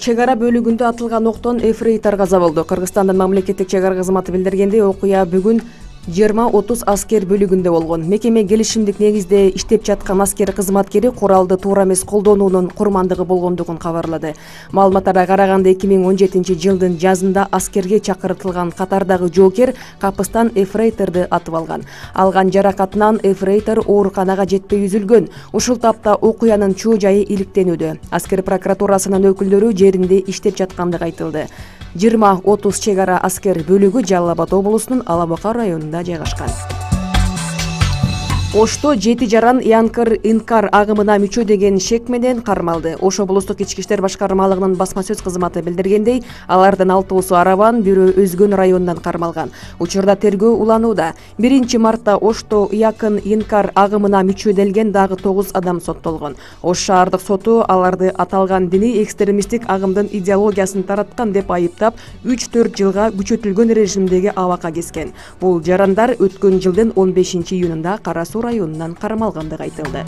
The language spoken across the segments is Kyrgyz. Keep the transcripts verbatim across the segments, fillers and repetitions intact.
чек ара бөлүгүндө атылган октон эфрейтор каза болду. Кыргызстандын мамлекеттик чек ара кызматы билдиргендей, окуя бүгүн жыйырма отуз аскер бөлүгүндө болгон. Мекеме келишимдик негизде иштеп жаткан аскер кызматкери куралды туура эмес колдонуунун курмандыгы болгондугун кабарлады. Маалыматтарга караганда эки миң он жетинчи жылдын жазында аскерге чакыртылган катардагы жоокер капыстан эфрейторду атып алган. Алган жаракатынан эфрейтор ооруканага жетпей үзүлгөн. Ушул тапта окуянын чоо жайы иликтенүүдө. Аскер прокуратурасынын өкүлдөрү жеринде иштеп жаткандыгы айтылды. жыйырма отуз чек ара аскер бөлүгү Жалал Абад облусунун Ала Бука районунда жайгашкан. Ошто жети жаран Янкар-Инкар агымына мүчө деген шек менен кармалды. Ош облустук ички иштер башкармалыгынын басма сөз кызматы билдиргендей, алардын алтоосу Араван, бирөө Өзгөн районунан кармалган. Учурда тергөө уланууда. биринчи мартта Ошто Якын-Инкар агымына мүчөделген дагы тогуз адам соттолгон. Ош шаардык соту аларды аталган диний экстремисттик агымдын идеологиясын тараткан деп айыптап, үч төрт жылга күчөтүлгөн режимдеги абакка кескен. Бул жарандар өткөн жылдын он бешинчи июнунда Кара Суу районунан кармалгандыгы айтылды.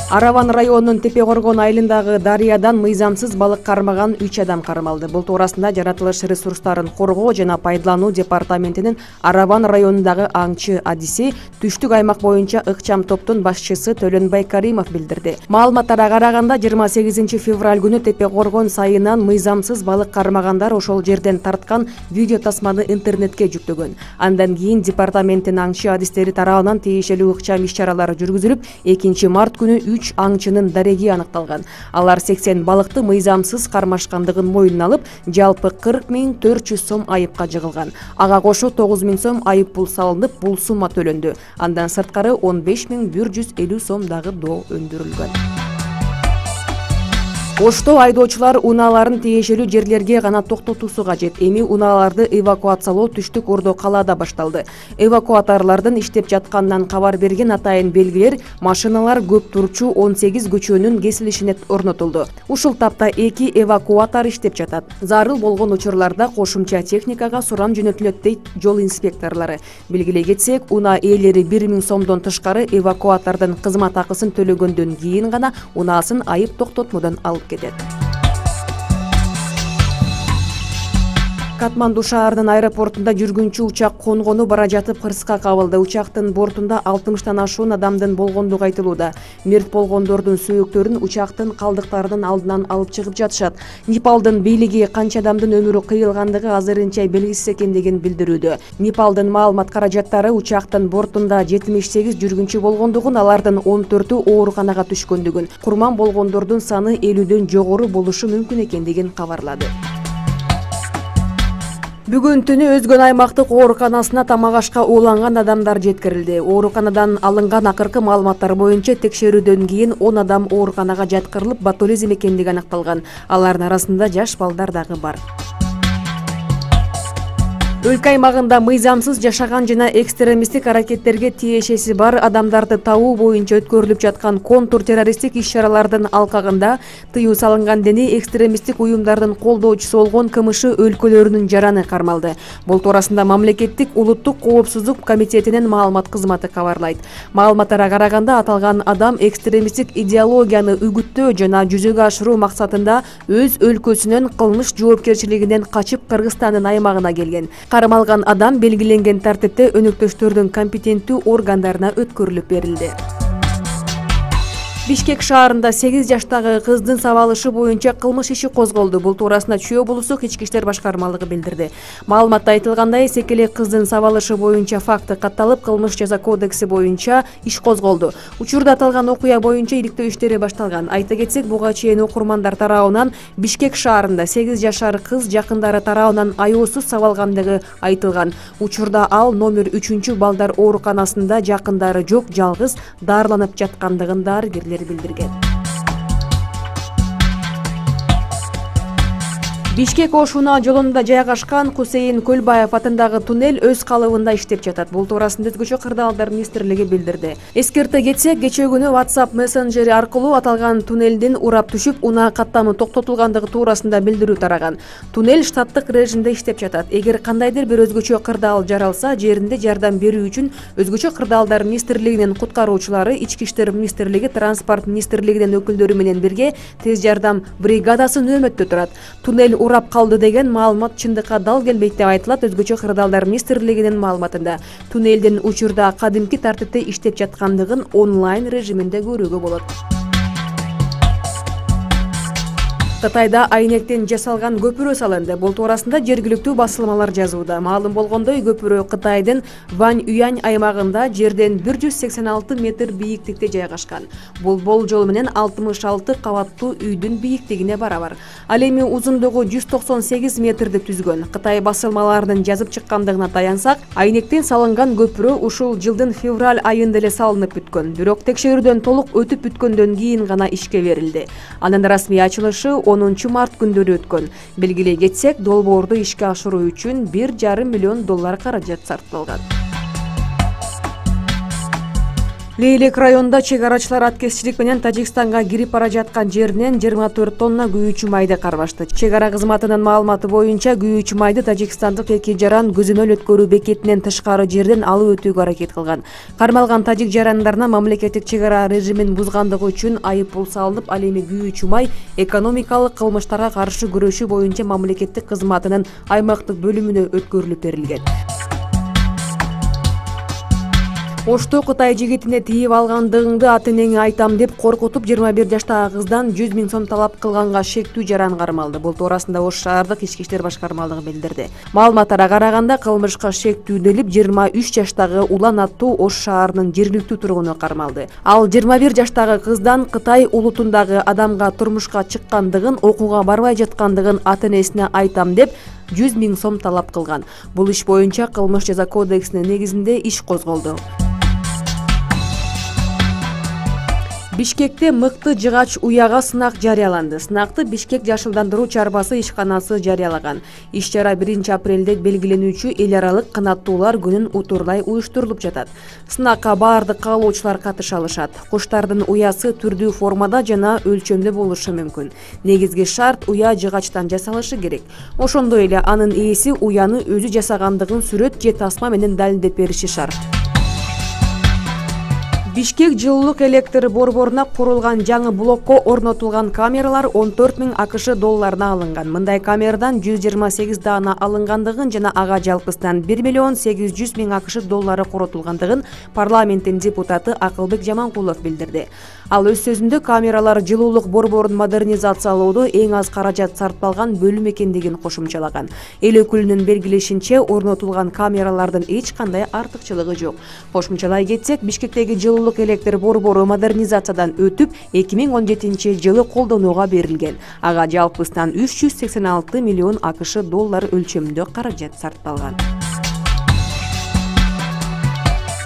Араван районунун Тепе Коргон айылындагы дарыядан мыйзамсыз балык кармаган үч адам кармалды. Бул туурасында жаратылыш ресурстарын коргоо жана пайдалануу департаментинин Араван районундагы аңчы адиси түштүк аймак боюнча ыкчам топтун башчысы Төлөнбай Каримов билдирди. Маалыматтарга караганда жыйырма сегизинчи февраль күнү Тепе Коргон сайынан мыйзамсыз балык кармагандар ошол жерден тарткан видео тасманы интернетке жүктөгөн. Андан кийин департаменттин аңчы адистери тарабынан тиешелүү ыкчам иш-чаралар жүргүзүлүп, экинчи март күнү үч аңчынын дареги аныкталган. Алар сексен балыкты мыйзамсыз кармашкандыгын мойнуна алып, жалпы кырк миң төрт жүз сом айыпка жыгылган. Ага кошо тогуз миң сом айып пул салынып, бул сумма төлөндү. Андан сырткары он беш миң бир жүз элүү сом дагы доо өндүрүлгөн. Ошто айдоочулар унааларын тиешелүү жерлерге гана токтотуусу кажет. Эми унааларды эвакуациялоо түштүк Ордо калаада башталды. Эвакуаторлордун иштеп жатканынан кабар берген атайын белгилер машиналар көп турчу он сегиз көчөнүн кесилишине орнотулду. Ушул тапта эки эвакуатор иштеп жатат. Зарыл болгон учурларда кошумча техникага сурам жөнөтүлөт дейт жол инспекторлору. Билгилей кетсек, унаа ээлери бир миң сомдон тышкары эвакуатордун кызмат акысын төлөгөндөн кийин гана унаасын айып токтотмодон алып кетет. Катманду шаарынын аэропортунда жүргүнчү учак конгону бара жатып кырсыкка кабылды. Учактын бортунда алтымыштан ашуун адамдын болгондугу айтылууда. Мерт болгондордун сөөктөрүн учактын калдыктарынын алдынан алып чыгып жатышат. Непалдын бийлиги канча адамдын өмүрү кыйылгандыгы азырынча белгисиз экендигин билдирүүдө. Непалдын маалымат каражаттары учактын бортунда жетимиш сегиз жүргүнчү болгондугун, алардын он төртү ооруканага түшкөндүгүн, курман болгондордун саны элүүдөн жогору болушу мүмкүн экендигин кабарлады. Бүгүн түнү Өзгөн аймактык ооруканасына тамак ашка ууланган адамдар жеткирилди. Ооруканадан алынган акыркы маалыматтар боюнча текшерүүдөн кийин он адам ооруканага жаткырылып, ботулизм экендиги аныкталган. Алардын арасында жаш балдар дагы бар. Өлкө аймагында мыйзамсыз жашаган жана экстремисттик аракеттерге тиешеси бар адамдарды табуу боюнча өткөрүлүп жаткан контур террористтик иш-чаралардын алкагында тыюу салынган диний экстремисттик уюмдардын колдоочусу болгон КМШ өлкөлөрүнүн жараны кармалды. Бул туурасында мамлекеттик улуттук коопсуздук комитетинин маалымат кызматы кабарлайт. Маалыматтарга караганда аталган адам экстремисттик идеологияны үгүттөө жана жүзөгө ашыруу максатында өз өлкөсүнүн кылмыш жоопкерчилигинен качып Кыргызстандын аймагына келген. Кармалган адам белгиленген тартипте өнөктөштөрдүн компетенттүү органдарына өткөрүлүп берилди. Бишкек шаарында сегиз жаштагы кыздын сабалышы боюнча кылмыш иши козголду. Бул туурасында Чүй облустук ички иштер башкармалыгы билдирди. Маалыматта айтылгандай, секелек кыздын сабалышы боюнча факты катталып, кылмыш жаза кодекси боюнча иш козголду. Учурда аталган окуя боюнча иликтөө иштери башталган. Айта кетсек, буга чейин окурмандар тарабынан Бишкек шаарында сегиз жашар кыз жакындары тарабынан аяосуз сабалгандыгы айтылган. Учурда ал номер үчүнчү балдар ооруканасында жакындары жок, жалгыз дарыланып жаткандыгын дарыгерлер билдирген. Бишкек Ош-Уна жолунда жайгашкан Кусейин Көлбаев атындагы туннель өз калыбында иштеп жатат. Бул туурасында Өзгөчө кырдаалдар министрлиги билдирди. Эскерте кетсек, кечээ күнү WhatsApp мессенджери аркылуу аталган туннелдин урап түшүп, унаа каттамы токтотулгандыгы туурасында билдирүү тараган. Туннель штаттык режимде иштеп жатат. Эгер кандайдыр бир өзгөчө кырдаал жаралса, жеринде жардам берүү үчүн Өзгөчө кырдаалдар министрлигинин куткаруучулары, Ички иштер министрлиги, Транспорт министрлигинин өкүлдөрү менен бирге тез жардам бригадасы нөөмөттө турат. Туннель урап калды деген маалымат чындыкка дал келбейт деп айтылат Өзгөчө кырдаалдар министрлигинин маалыматында. Туннелдин учурда кадимки тартипте иштеп жаткандыгын онлайн режиминде көрүүгө болот. Кытайда айнектен жасалган көпүрө салынды. Бул туурасында жергиликтүү басылмалар жазууда. Маалым болгондой, көпүрө Кытайдын Вань-Юань аймагында жерден бир жүз сексен алты метр бийиктикте жайгашкан. Бул болжол менен алтымыш алты кабаттуу үйдүн бийиктигине барабар. Ал эми узундугу жүз токсон сегиз метрди түзгөн. Кытай басылмаларынын жазып чыккандыгына таянсак, айнектен салынган көпүрө ушул жылдын февраль айында эле салынып бүткөн. Бирок текшерүүдөн толук өтүп бүткөндөн кийин гана ишке берилди. Анын расмий ачылышы онунчу март күндөрү өткөн. Белгилей кетсек, долбоорду ишке ашыруу үчүн бир жарым миллион доллар каражат сарпталган. Лейлек районунда чек арачылар аткезчилик менен Тажикстанга кирип бара жаткан жеринен жыйырма төрт тонна күйүүчү майды карбашты. Чек ара кызматынын маалыматы боюнча, күйүүчү майды тажикстандык эки жаран көзөмөл өткөрүү бекетинен тышкары жерден алып өтүүгө аракет кылган. Кармалган тажик жарандарына мамлекеттик чек ара режимин бузгандыгы үчүн айып пул салынып, ал эми күйүүчү май экономикалык кылмыштарга каршы күрөшүү боюнча мамлекеттик кызматынын аймактык бөлүмүнө өткөрүлүп берилген. Ошто Кытай жигитине тийип алгандыгыңды ата-энеңе айтам деп коркутуп жыйырма бир жаштагы кыздан жүз миң сом талап кылганга шектүү жаран кармалды. Бул туурасында Ош шаардык ички иштер башкармалыгы билдирди. Маалыматтарга караганда, кылмышка шектүүлөнүп жыйырма үч жаштагы Улан аттуу Ош шаарынын жергиликтүү тургуну кармалды. Ал жыйырма бир жаштагы кыздан Кытай улутундагы адамга турмушка чыккандыгын, окууга барбай жаткандыгын ата-энесине айтам деп жүз миң сом талап кылган. Бул иш боюнча кылмыш жаза кодексинин негизинде иш козголду. Бишкекте мыкты жыгач уяга сынак жарыяланды. Сынакты Бишкек жашылдандыруу чарбасы ишканасы жарыялаган. Иш-чара биринчи апрелде белгиленүүчү эл аралык канаттуулар күнүн утурлай уюштурулуп жатат. Сынакка баардык каалоочулар катыша алышат. Куштардын уясы түрдүү формада жана өлчөмдө болушу мүмкүн. Негизги шарт уя жыгачтан жасалышы керек. Ошондой эле анын ээси уяны өзү жасагандыгын сүрөт же тасма менен далилдеп бериши шарт. Бишкек жылуулук электр борборуна курулган жаңы блокко орнотулган камералар он төрт миң акш долларына алынган. Мындай камерадан жүз жыйырма сегиз даана алынгандыгын жана ага жалпысынан бир миллион сегиз жүз миң акш доллары коротулгандыгын парламенттин депутаты Акылбек Жаманкулов билдирди. Ал өз сөзүндө камералар жылуулук борборун модернизациялоодо эң аз каражат сарпталган бөлүм экендигин кошумчалаган. Эл өкүлүнүн белгилешинче, орнотулган камералардын эч кандай артыкчылыгы жок. Кошумчалай кетсек, Бишкектеги жылуулук электр борбору модернизациядан өтүп, эки миң он жетинчи жылы колдонууга берилген. Ага жалпысынан үч жүз сексен алты миллион акш доллар өлчөмүндө каражат сарпталган.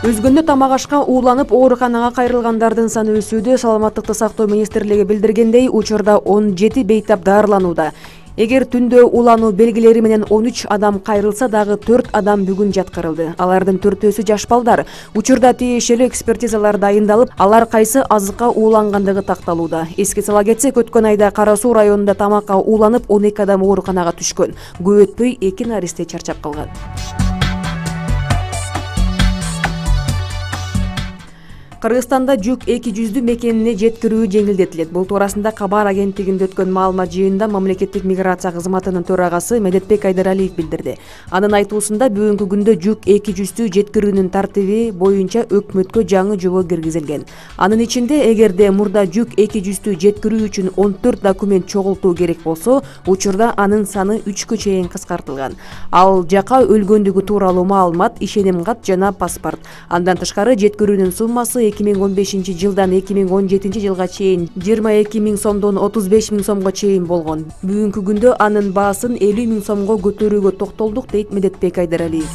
Өзгөндө тамак ашка ууланып ооруканага кайрылгандардын саны өсүүдө. Саламаттыкты сактоо министрлиги билдиргендей, учурда он жети бейтап дарыланууда. Эгер түндө уулануу белгилери менен он үч адам кайрылса дагы төрт адам бүгүн жаткырылды. Алардын төртөөсү жаш балдар. Учурда тиешелүү экспертизалар дайындалып, алар кайсы азыкка уулангандыгы такталууда. Эске сала кетсек, өткөн айда Кара Суу районунда тамакка ууланып он эки адам ооруканага түшкөн. Көп өтпөй эки наристе чарчап калган. Кыргызстанда жүк эки жүздүү мекенине жеткирүү жеңилдетилет. Бул туурасында Кабар агенттигинде өткөн маалымат жыйынында мамлекеттик миграция кызматынын төрагасы Медетбек Айдаралиев билдирди. Анын айтуусунда, бүгүнкү күндө жүк эки жүздүү жеткирүүнүн тартиби боюнча өкмөткө жаңы жобо киргизилген. Анын ичинде, эгерде мурда жүк эки жүздүү жеткирүү үчүн он төрт документ чогултуу керек болсо, учурда анын саны үчкө чейин кыскартылган. Ал жака өлгөндүгү тууралуу маалымат, ишеним кат жана паспорт. Андан тышкары жеткирүүнүн суммасы эки миң он бешинчи жылдан эки миң он жетинчи жылга чейин жыйырма эки миң сомдон отуз беш миң сомго чейин болгон. Бүгүнкү күндө анын баасын элүү миң сомго көтөрүүгө токтолдук, дейт Медетбек Айдаралиев.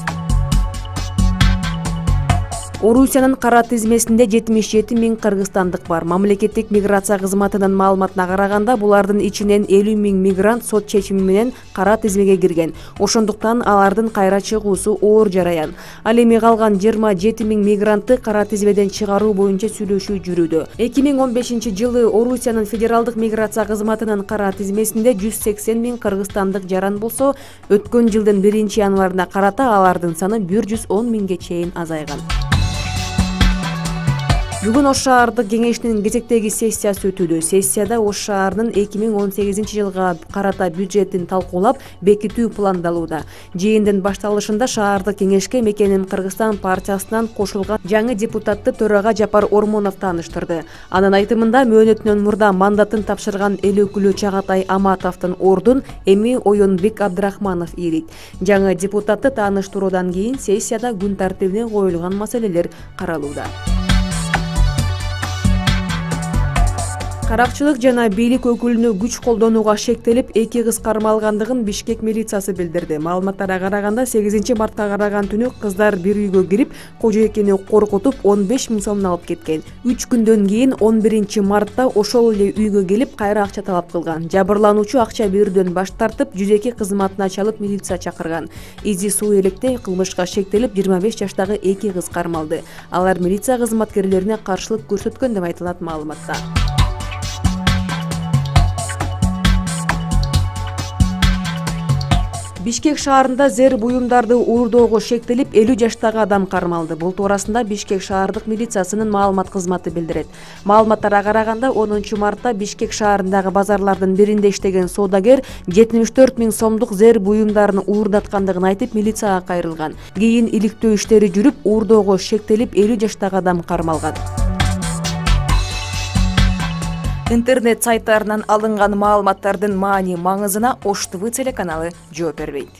Орусиянын кара тизмесинде жетимиш жети миң кыргызстандык бар. Мамлекеттик миграция кызматынын маалыматына караганда, булардын ичинен элүү миң мигрант сот чечими менен кара тизмеге кирген. Ошондуктан алардын кайра чыгуусу оор жараян. Ал эми калган жыйырма жети миң мигрантты кара тизмеден чыгаруу боюнча сүйлөшүү жүрүүдө. эки миң он бешинчи жылы Орусиянын федералдык миграция кызматынын кара тизмесинде жүз сексен миң кыргызстандык жаран болсо, өткөн жылдын биринчи январына карата алардын саны бир жүз он миңге чейин азайган. Бүгүн Ош шаардык кеңешинин кезектеги сессиясы өтүүдө. Сессияда Ош шаарынын эки миң он сегизинчи жылга карата бюджетин талкуулап, бекитүү пландалууда. Жыйындын башталышында шаардык кеңешке Мекеним Кыргызстан партиясынан кошулган жаңы депутатты төрага Жапар Ормонов тааныштырды. Анын айтымында, мөөнөтүнөн мурда мандатын тапшырган эл өкүлү Чагатай Аматовдун ордун эми Оюнбек Абдрахманов ээлейт. Жаңы депутатты тааныштыруудан кийин сессияда күн тартибине коюлган маселелер каралууда. Каракчылык жана бийлик өкүлүнө күч колдонууга шектелип, эки кыз кармалгандыгын Бишкек милициясы билдирди. Маалыматтарга караганда, сегизинчи мартка караган түнү кыздар бир үйгө кирип, кожоекени коркутуп, он беш миң сомун алып кеткен. үч күндөн кийин он биринчи мартта ошол эле үйгө келип, кайра акча талап кылган. Жабырлануучу акча берүүдөн баш тартып, жүз эки кызматына чалып милиция чакырган. Изи суу электе кылмышка шектелип, жыйырма беш жаштагы эки кыз кармалды. Алар милиция кызматкерлерине каршылык көрсөткөн деп айтылат маалыматта. Бишкек шаарында зер буюмдарды уурдоого шектелип, элүү жаштагы адам кармалды. Бул туурасында Бишкек шаардык милициясынын маалымат кызматы билдирет. Маалыматтарга караганда, онунчу мартта Бишкек шаарындагы базарлардын биринде иштеген соодагер жетимиш төрт миң сомдук зер буюмдарын уурдаткандыгын айтып, милицияга кайрылган. Кийин иликтөө иштери жүрүп, уурдоого шектелип, элүү жаштагы адам кармалган. Интернет сайттарынан алынган маалыматтардын маани маңызына Ош ТВ телеканалы жооп бербейт.